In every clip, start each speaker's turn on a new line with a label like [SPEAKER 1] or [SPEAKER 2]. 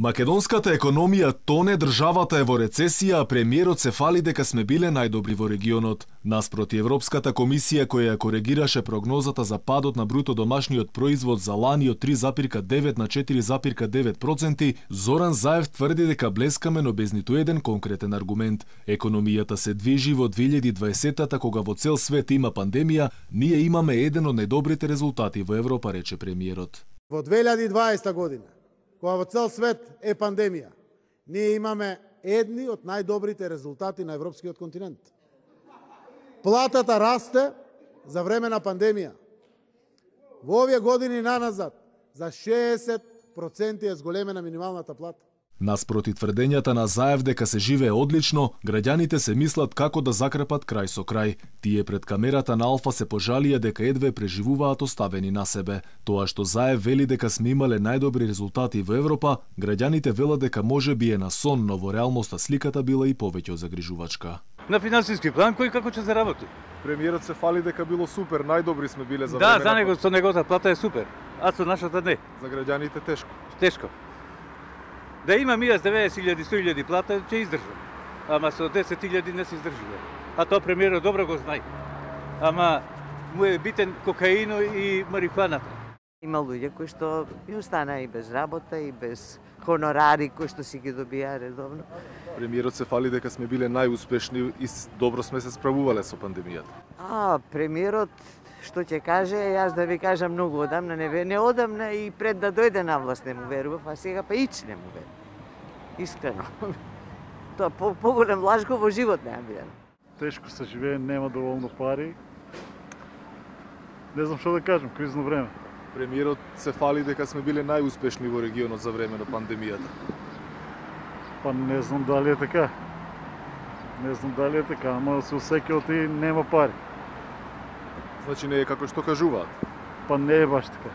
[SPEAKER 1] Македонската економија тоне, државата е во рецесија, а премиерот се фали дека сме биле најдобри во регионот. Наспроти Европската комисија која коригираше прогнозата за падот на бруто домашниот производ за лани од 3,9 на 4,9%, Зоран Заев тврди дека блескаме, но без ниту еден конкретен аргумент. Економијата се движи во 2020-та, кога во цел свет има пандемија, ние имаме еден од најдобрите резултати во Европа, рече премиерот.
[SPEAKER 2] Во 2020 година, кога во цел свет е пандемија, ние имаме едни од најдобрите резултати на европскиот континент. Платата расте за време на пандемија. Во овие години наназад за 60% е зголемена минималната плата.
[SPEAKER 1] Наспроти тврдењата на Заев дека се живее одлично, граѓаните се мислат како да закрепат крај со крај. Тие пред камерата на Алфа се пожалија дека едве преживуваат оставени на себе. Тоа што Заев вели дека сме имале најдобри резултати во Европа, граѓаните велат дека може би е на сон, но во реалноста сликата била и повеќе загрижувачка.
[SPEAKER 3] На финансиски план кој како ќе заработи?
[SPEAKER 4] Премиерот се фали дека било супер, најдобри сме биле за
[SPEAKER 3] време.
[SPEAKER 4] Да,
[SPEAKER 3] за него со неговата плата е супер, а со нашата не.
[SPEAKER 4] За граѓаните тешко.
[SPEAKER 3] Тешко. Да имам јас 90.000, 100.000 плата, ќе издржам. Ама со 10.000 не се издржува. А тоа премиерот добро го знае. Ама му е битен кокаино и марихуаната.
[SPEAKER 5] Има луѓе кои што би останаа и без работа, и без хонорари кои што си ги добија редовно.
[SPEAKER 4] Премиерот се фали дека сме биле најуспешни и добро сме се справувале со пандемијата.
[SPEAKER 5] Премиерот што ќе каже, јас да ви кажам многу одамна, не одамна и пред да дојде на власт не му верував, а сега па ич не му верувам. Искрено. Тоа поголем лажко во живот не видам.
[SPEAKER 6] Тешко се живее, нема доволно пари. Не знам што да кажам, кризно време.
[SPEAKER 4] Премиерот се фали дека сме биле најуспешни во регионот за време на пандемијата.
[SPEAKER 6] Па не знам дали е така. Не знам дали е така, ама се осеќа и нема пари.
[SPEAKER 4] Значи не е како што кажуваат?
[SPEAKER 6] Па не е баш така.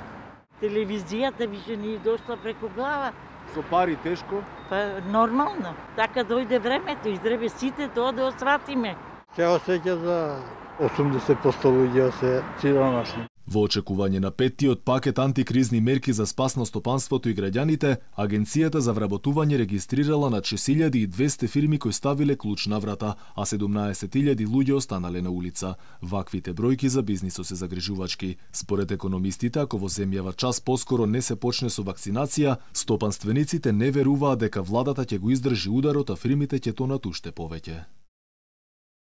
[SPEAKER 7] Телевизијата више ни дошла преку глава.
[SPEAKER 4] Со пари тешко?
[SPEAKER 7] Па нормално. Така дојде времето, издребе сите тоа да осватиме.
[SPEAKER 6] Се осеќа за 80% луѓе се сиромашни.
[SPEAKER 1] Во очекување на петтиот пакет антикризни мерки за спас на стопанството и граѓаните, Агенцијата за вработување регистрирала на 6.200 фирми кои ставиле клуч на врата, а 17.000 луѓе останале на улица. Ваквите бројки за бизнисот се загрижувачки. Според економистите, ако во земјава час поскоро не се почне со вакцинација, стопанствениците не веруваат дека владата ќе го издржи ударот, а фирмите ќе тонат уште повеќе.